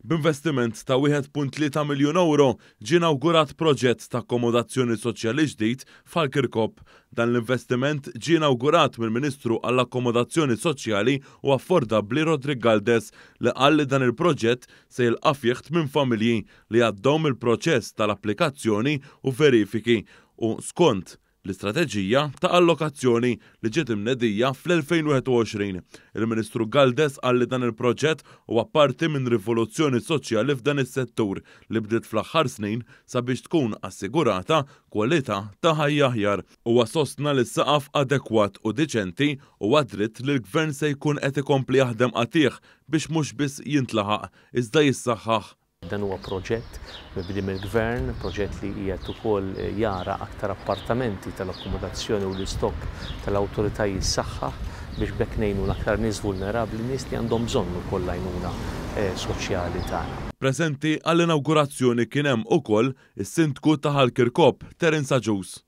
B'investiment ta' 1.3 miljun ewro ġie inawgurat proġett ta' akkomodazzjoni soċjali ġdid f'Ħal Kirkop. Dan l-investiment ġie inawgurat mill-Ministru għall-Akkomodazzjoni Soċjali u Affordabbli Roderick Galdes li qal li dan il-proġett se jilqa' fih tminn familji li għaddew mill-proċess tal-applikazzjoni u verifiki u skont l-istrateġija ta' allokazzjoni li ġiet imnedija fl-2021. Il-Ministru Galdes qal li dan il-proġett huwa parti minn rivoluzzjoni soċjali f'dan is-settur li bdiet fl-aħħar snin sabiex tkun assigurata kwalità ta' ħajja aħjar. Huwa sostna li saqaf adekwat u diċenti huwa dritt li l-Gvern se jkun qed ikompli jaħdem qatigħ biex mhux biss jintlaħaq iżda jissaħħaħ. Dan huwa proġett mibdi mill-Gvern, proġett li qiegħed ukoll jara aktar appartamenti tal-akkomodazzjoni u l-istokk tal-awtorità jissaħħaħ biex b'hekk ngħinu l-aktar nies vulnerabbli, nies li għandhom bżonn ukoll l-għajnuna soċjali tagħna. Preżenti għall-inawgurazzjoni kien hemm ukoll is-Sindku ta' Ħal Kirkop, Terence Agius.